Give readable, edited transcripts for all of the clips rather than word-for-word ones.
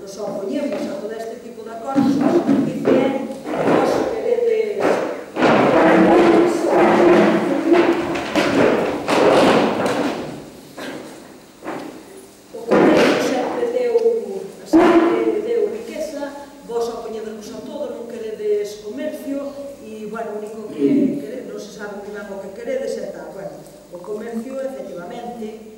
nos opoñemos a todo este tipo de acordos, o que nos dice é que vos queredes o comercio sempre deu riqueza, vos opoñedevos a todo, non queredes comercio e, bueno, o único que queredes, non se sabe moi ben o que queredes e tal. Bueno, o comercio, efectivamente,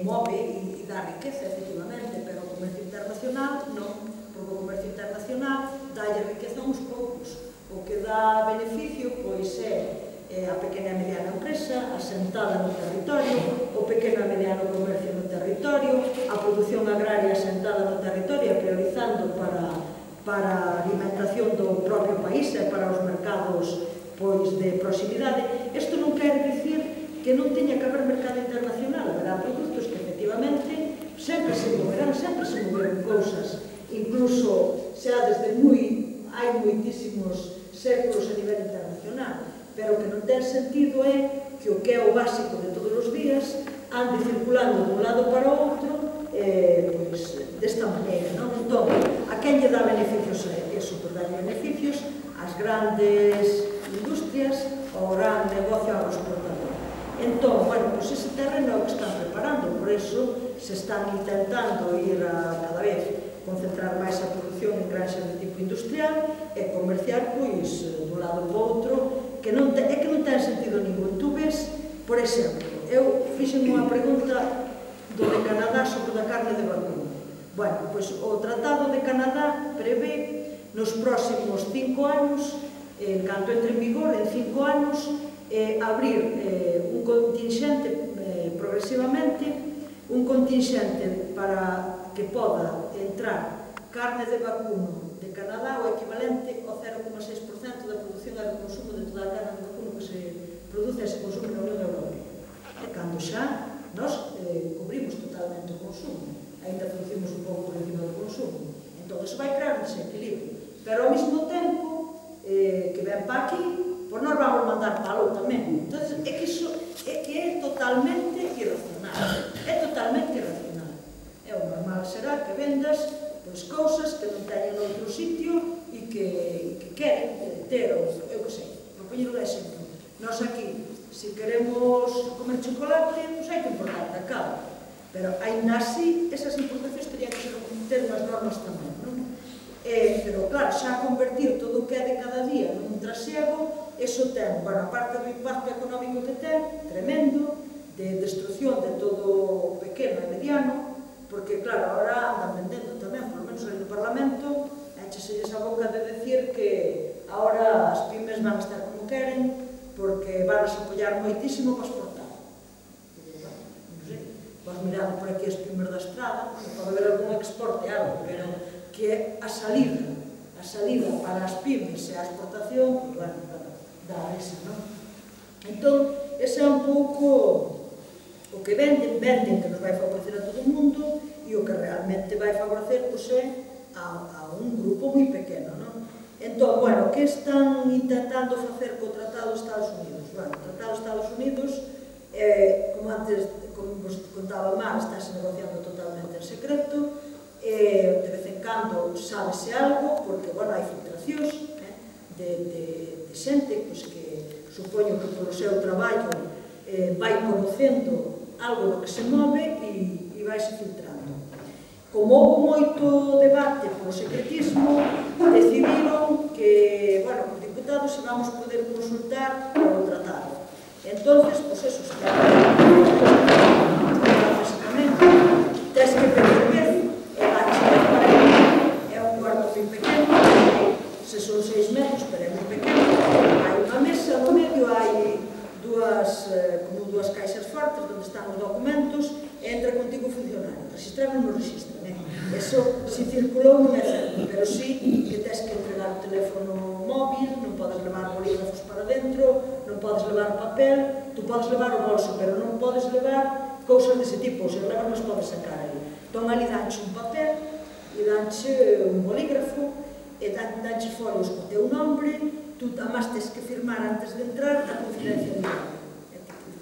move e dá riqueza, efectivamente, pero o comercio internacional non, porque o comercio internacional dálle riqueza a uns poucos. O que dá beneficio, pois, é a pequena e mediana empresa asentada no territorio, o pequeno e mediano comercio no territorio, a produción agraria asentada no territorio, priorizando para a alimentación do propio país e para os mercados de proximidade. Isto non quere dicir que non teña que haber mercado internacional, haberá produtos que efectivamente sempre se moverán cousas, incluso xa desde hai moitísimos séculos a nivel internacional, pero o que non ten sentido é que o que é o básico de todos os días ande circulando dun lado para o outro desta maneira, non? Entón, a quen lle dá beneficios a eso? Por dar beneficios ás grandes industrias, ao gran negocio agroexportador. Entón, bueno, pois ese terreno é o que están preparando, por eso se están intentando ir a cada vez concentrar máis a produción en granxas de tipo industrial e comerciar, pois, dun lado para o outro, que non ten sentido ningún. Tú ves, por exemplo, eu fixen unha pregunta do de Canadá sobre a carne de vacuno. Bueno, pois o Tratado de Canadá prevé nos próximos 5 anos, en canto entre en vigor, en 5 anos, abrir un contingente progresivamente, un contingente para que poda entrar carne de vacuno de Canadá o equivalente ao 0,6% da produción e do consumo de toda a carne de vacuno que se produce e se consume na Unión Europea. E cando xa nós cubrimos totalmente o consumo, ainda producimos un pouco por encima do consumo. Entón, iso vai crear un desequilibrio. Pero ao mesmo tempo que ven para aquí, pois nós vamos mandar para algo tamén. Entón, é que iso é totalmente irracional. É totalmente irracional. É o normal será que vendas cousas que non teñen outro sitio e que queren ter, eu que sei, por poñer un exemplo. Nós aquí, se queremos comer chocolate, pois hai que importar de cá. Pero, ainda así, esas importacións terían que ter unhas normas tamén, non? Pero, claro, xa convertir todo o que é de cada día nun trasiego, eso ten, bueno, aparte do impacto económico que ten, tremendo, de destrucción de todo o pequeno e mediano, porque, claro, agora andan vendendo tamén, por lo menos aí no Parlamento, écheselles a boca de decir que agora as pymes van a estar como queren, porque van a se apoiar moitísimo para exportar. Non sei, vas mirando por aquí as pymes da estrada, pode haber algún exporte, algo, pero que é a salida para as pymes e a exportación, bueno, dá esa, non? Entón, ese é un pouco o que venden que nos vai favorecer a todo o mundo e o que realmente vai favorecer, pois, é a un grupo moi pequeno, non? Entón, bueno, que están intentando facer co Tratado dos Estados Unidos? Bueno, o Tratado dos Estados Unidos, como antes, como vos contaba Mar, estáse negociando totalmente en secreto, de vez en cando sábese algo, porque, bueno, hai filtracións de xente que supoño que polo seu traballo vai conocendo algo do que se move e vaise filtrando. Como houve moito debate polo secretismo, decidiron que, bueno, os diputados se vamos poder consultar o tratado. Entonces, pois eso, básicamente, tens que perceber é un cuarto moi pequeno, se son 6 metros, pero é moi pequeno, hai unha mesa no medio, hai como dúas caixas fortes onde están os documentos e entra contigo o funcionario. Registrar non registran, eso si circulou non é certo, pero si que tens que entregar o teléfono móvil, non podes levar bolígrafos para dentro, non podes levar papel, tú podes levar o bolso, pero non podes levar cousas dese tipo, os reglas non podes sacar aí. Entón, ali danche un papel e danche un bolígrafo e danche folios co teu nombre, tú además tens que firmar antes de entrar a confidencialidade.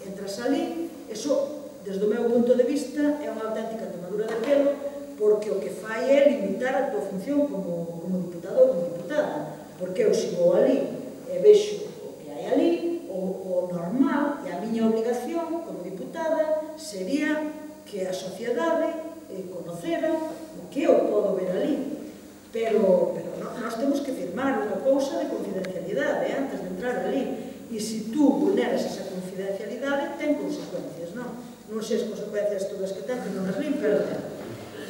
Entras ali, eso, desde o meu punto de vista, é unha auténtica tomadura de pelo, porque o que fai é limitar a tua función como diputado ou como diputada, porque eu se vou ali e vexo o que hai ali, o normal, e a miña obligación como diputada sería que a sociedade conocera o que eu podo ver ali. Pero nós temos que firmar unha cousa de confidencialidade antes de entrar ali, e se tú vulneras esa confidencialidade ten consecuencias, non? Non sei as consecuencias todas que ten, que non as lim, pero ten.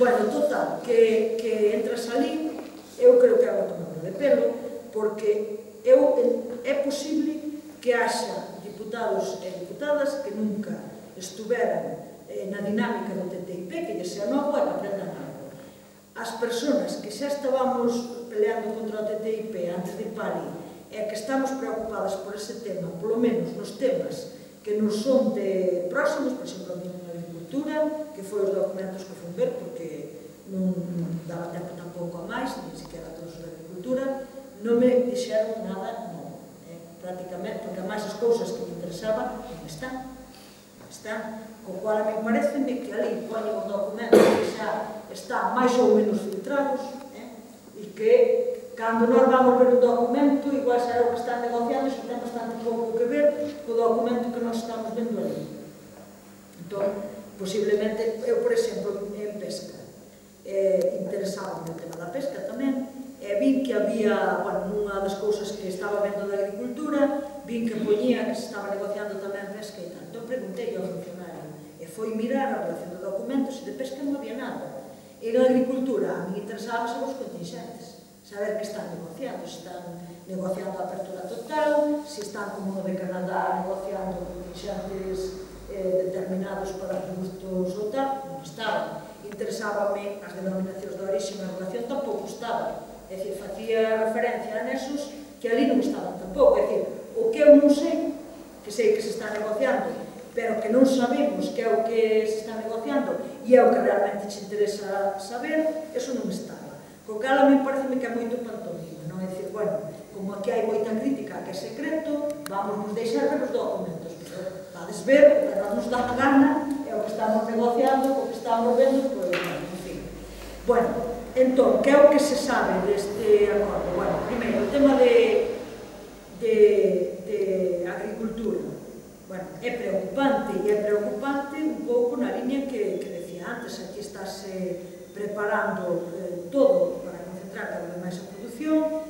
Bueno, total, que entras ali, eu creo que é unha tomadura de pelo, porque é posible que haxa diputados e diputadas que nunca estuveran na dinámica do TTIP, que lle sea novo e que aprendan algo. As persoas que xa estábamos peleando contra o TTIP antes de ir para ali, e que estamos preocupadas por ese tema, polo menos nos temas que nos son de próximos, por exemplo, a minha agricultura, que foi os documentos que fui ver, porque non daba tempo tampouco a máis, ni siquiera a todos os de agricultura, non me dixeron nada novo, prácticamente, porque a máis as cousas que me interesaban non están, co cual a mí parece que ali poñen un documento que xa está máis ou menos filtrados, e que cando nós vamos ver un documento, igual será o que están negociando, e xa ten bastante pouco que ver co documento que nós estamos vendo ali. Entón, posiblemente, eu, por exemplo, en pesca, interesaba no tema da pesca tamén, e vin que había, bueno, nunha das cousas que estaba vendo da agricultura, vin que poñía que se estaba negociando tamén pesca e tal. Entón, preguntei ao funcionario, e foi mirar a relación de documentos, e de pesca non había nada. E na agricultura, a mí interesaba saber os contingentes, saber que están negociando, se están negociando a apertura total, se están, como no de Canadá, negociando contingentes determinados para produtos ou tal, non estaban. Interesábame as denominacións de orixe na relación, tampouco estaban. É dicir, facía referencia a nesos que ali non estaban tampouco. É dicir, o que eu non sei que se está negociando, pero que non sabemos que é o que se está negociando e é o que realmente te interesa saber, eso non estaba. Co cal a mí parece que é moito pantomima, non? É dicir, bueno, como aquí hai moita crítica que é secreto, vamos nos deixar ver os documentos, pero vades ver, o que non nos dá a gana é o que estamos negociando, o que estamos vendo, pois, en fin. Bueno, entón, que é o que se sabe deste acordo? Bueno, primeiro, o tema de agricultura. Bueno, é preocupante, e é preocupante un pouco na liña que decía antes. Aquí estáse preparando todo para concentrar cada vez máis a produción,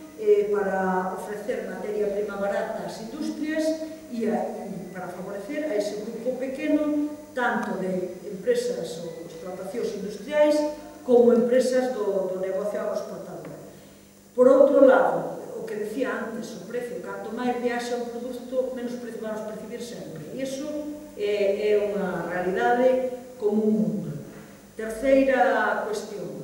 para ofrecer materia prima barata ás industrias e para favorecer a ese grupo pequeno, tanto de empresas ou explotacións industriais como empresas do negocio agroexportador. Por outro lado, o que decía antes, o precio, canto máis viaxa un produto, menos precio vamos percibir sempre. E iso é unha realidade como un mundo. Terceira cuestión,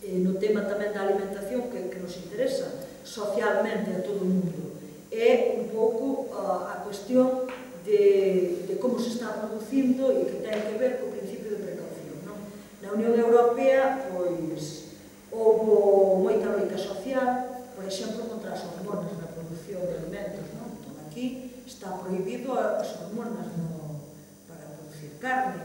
no tema tamén da alimentación que nos interesa socialmente a todo o mundo, é un pouco a cuestión de como se está producindo e que ten que ver co principio de precaución. Na Unión Europea, pois, houve moita loita social, por exemplo, contra as hormonas na produción de alimentos. Entón, aquí está prohibido as hormonas para producir carne,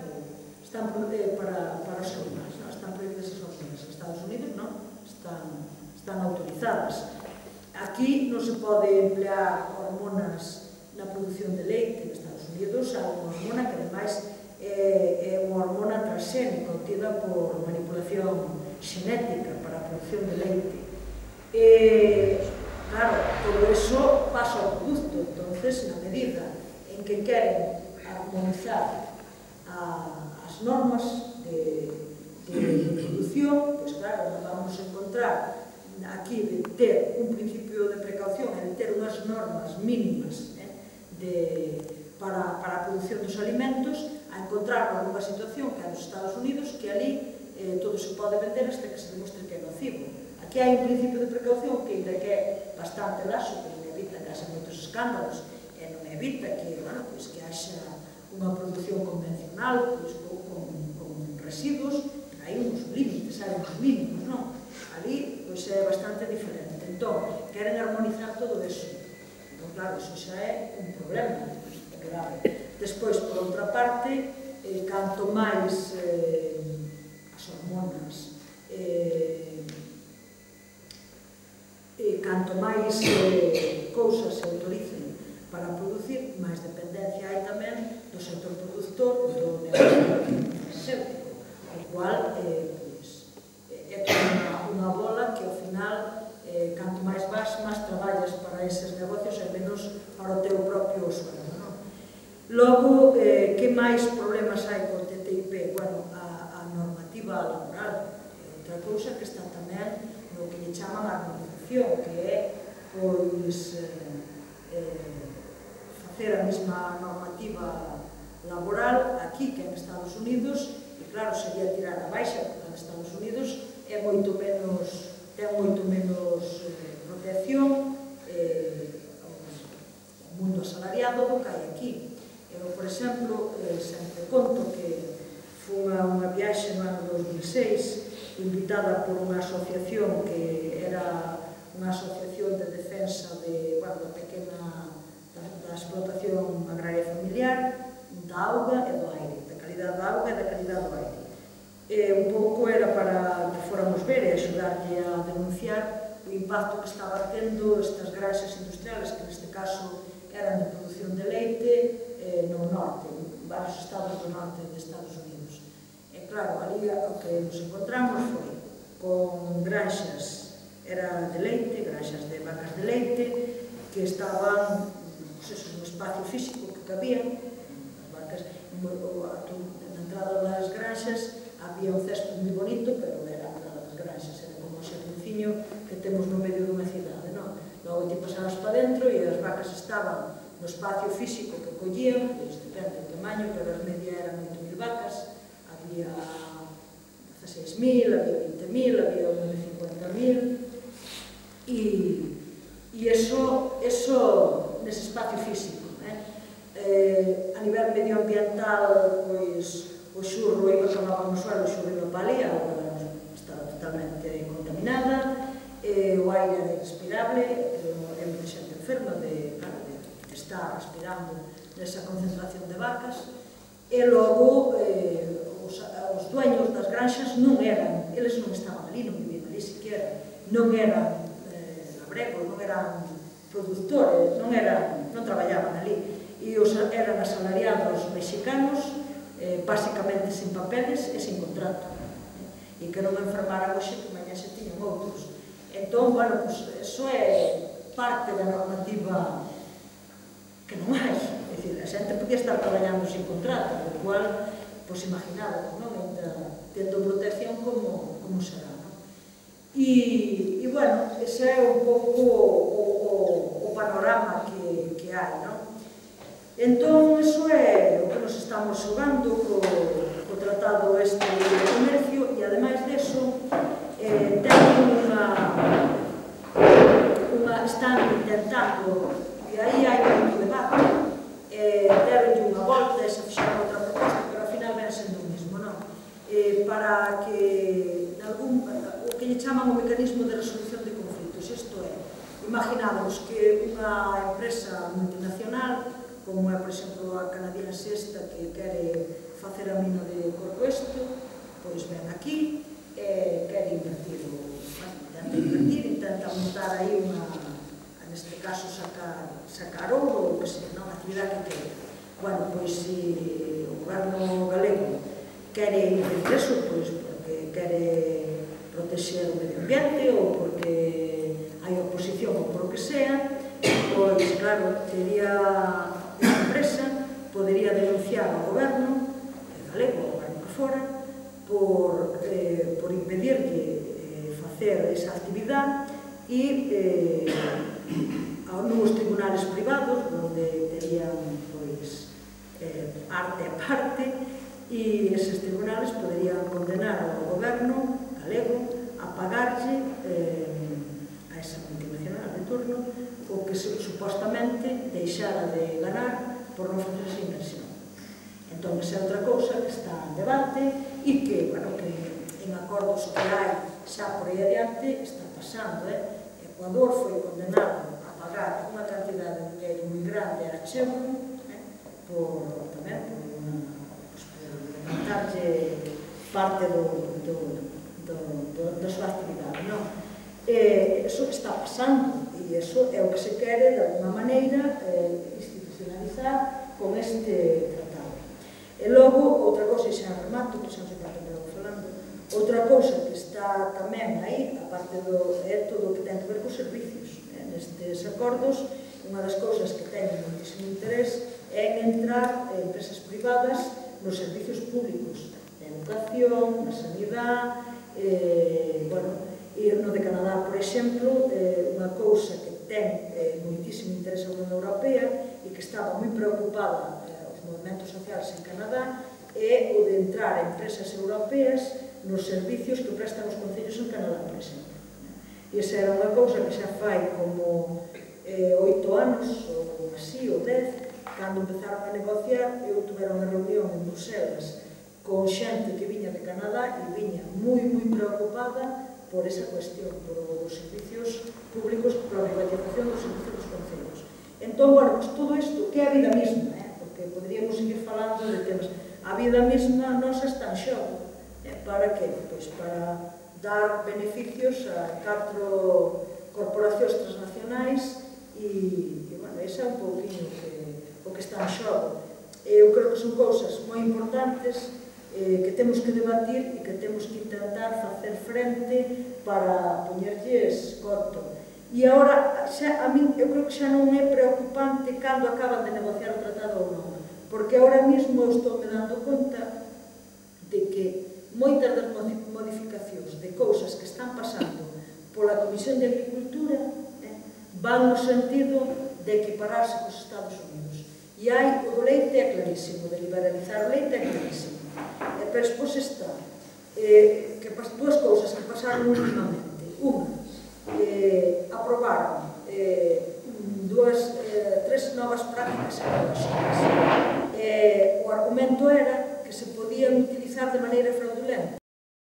están para os animais, están prohibidas as hormonas. En Estados Unidos non, están autorizadas. Aquí non se pode emplear hormonas na produción de leite. En Estados Unidos há unha hormona que ademais é unha hormona transgénica obtida por manipulación xenética para a produción de leite. Claro, todo eso pasa ao produto. Entonces, na medida en que queren armonizar as normas de produción, pois claro, nos vamos a encontrar aquí de ter un principio de precaución e de ter unhas normas mínimas para a produción dos alimentos, a encontrarnos nunha situación que é nos Estados Unidos, que ali todo se pode vender hasta que se demostre que é nocivo. Aquí hai un principio de precaución que ainda que é bastante laxo, que non evita que haxa moitos escándalos, e non evita que haxa unha produción convencional con residuos, pero hai uns límites, hai uns mínimos, non? Ali é bastante diferente. Entón, queren armonizar todo eso. Entón, claro, iso xa é un problema grave. Despois, por outra parte, canto máis as hormonas, canto máis cousas se autoricen para producir, máis dependencia hai tamén do sector produtor do negocio farmacéutico, o cual é toda unha bola que ao final canto máis vas, máis traballas para eses negocios e menos para o teu propio sueldo. Logo, que máis problemas hai co TTIP? Bueno, a normativa laboral, outra cousa que está tamén no que lle chaman a armonización, que é pois facer a mesma normativa laboral aquí que en Estados Unidos, e claro, sería tirar a baixa, porque en Estados Unidos é moito menos, ten moito menos protección o mundo asalariado do que hai aquí. Eu, por exemplo, sempre conto que fun a unha viaxe no ano 2006 invitada por unha asociación que era unha asociación de defensa da pequena da explotación agraria familiar, da auga e do aire, da calidad da auga e da calidad do aire. Un pouco era para que fóramos ver e axudarlle a denunciar o impacto que estaba tendo estas granxas industriales, que neste caso eran de produción de leite no norte, en varios estados do norte de Estados Unidos. E claro, ali o que nos encontramos foi con granxas, era de leite, granxas de vacas de leite, que estaban no espacio físico que cabían, as vacas, na entrada das granxas había un césped moi bonito, pero era a entrada das granxas, era como o xardinciño que temos no medio dunha cidade, non? Logo ti pasabas para dentro e as vacas estaban no espacio físico que collían, depende do tamaño, pero as media eran 8.000 vacas, había 16.000, había 20.000, había 50.000, e eso nese espacio físico. A nivel medioambiental, pois, o xurro iba acababa no suelo, o xurro iba para ali, a auga estaba totalmente contaminada, o aire era irrespirable, é moita xente enferma de estar respirando nesa concentración de vacas, e logo os dueños das granxas non eran, eles non estaban ali, non vivían ali siquiera, non eran labregos, non eran produtores, non traballaban ali, e eran asalariados mexicanos, basicamente sin papeles e sin contrato, e que non enfermaran hoxe que mañá se tiñan outros. Entón, bueno, eso é parte da normativa que non hai, é dicir, a xente podía estar traballando sin contrato, o cual, pois imaginado, non? Tendo protección como será, non? E, bueno, ese é un pouco o panorama que hai, non? Entón, iso é o que nos estamos xogando co tratado este de comercio, e ademais deso, están intentando, e aí hai moito debate, deronlle unha volta e se fixaron outra proposta, pero ao final ven sendo o mesmo, non? Para que o que lle chaman o mecanismo de resolución de conflitos, isto é, imaginamos que unha empresa multinacional, como é, por exemplo, a canadiense esta que quere facer a mina de Corcoesto, pois ven aquí, quere invertir, intenta montar aí neste caso sacar ouro, ou que se non, a actividade que quere. Bueno, pois se o goberno galego quere invertir eso, pois porque quere protexer o medio ambiente ou porque hai oposición ou por o que sea, pois claro, esa empresa podería denunciar ao goberno galego, ao goberno que fora, por impedirle facer esa actividade e nos tribunales privados, onde terían arte a parte, e eses tribunales poderían condenar ao goberno galego a pagarlle a esa multinacional de turno o que supostamente deixara de ganar por non facer esa inversión. Entón, esa é outra cousa que está en debate e que, bueno, que en acordos que hai xa por aí adiante está pasando. Ecuador foi condenado a pagar unha cantidade de dinheiro moi grande a Chevron tamén por levantarlle parte do da súa actividade. Eso está pasando e eso é o que se quere, de alguma maneira, institucionalizar con este tratado. E logo, outra cousa, e xa remato, que xa non sei canto me vou falando, outra cousa que está tamén aí, aparte é todo o que ten que ver cos servicios. Nestes acordos, unha das cousas que teñen moitísimo interés é entrar empresas privadas nos servicios públicos, na educación, na sanidade, e no de Canadá, por exemplo, unha cousa que ten moitísimo interés a Unión Europea e que estaba moi preocupada os movimentos sociais en Canadá é o de entrar empresas europeas nos servicios que prestan os concellos en Canadá, por exemplo. E esa era unha cousa que xa fai como 8 anos, ou así, ou 10, cando empezaron a negociar, eu tuvera unha reunión en Bruselas con xente que viña de Canadá e viña moi preocupada por esa cuestión, por os servicios públicos, por a privatización dos servicios dos concellos. Entón, bueno, pues todo isto, que é a vida mesma, porque poderíamos seguir falando de temas. A vida mesma nosa está en xogo. Para que? Pois para dar beneficios a 4 corporacións transnacionais e, bueno, ese é un pouquinho o que está en xogo. Eu creo que son cousas moi importantes que temos que debatir e que temos que intentar facer frente para poñerlles corto. E agora, a min, eu creo que xa non é preocupante cando acaban de negociar o tratado ou non, porque agora mesmo eu estou me dando conta de que moitas das modificacións de cousas que están pasando pola Comisión de Agricultura van no sentido de equipararse cos Estados Unidos. E hai, o do leite é clarísimo, de liberalizar o leite é clarísimo. Pero despois está dúas cousas que pasaron últimamente. Unha, aprobaron 3 novas prácticas ecolóxicas. O argumento era que se podían utilizar de maneira fraudulenta.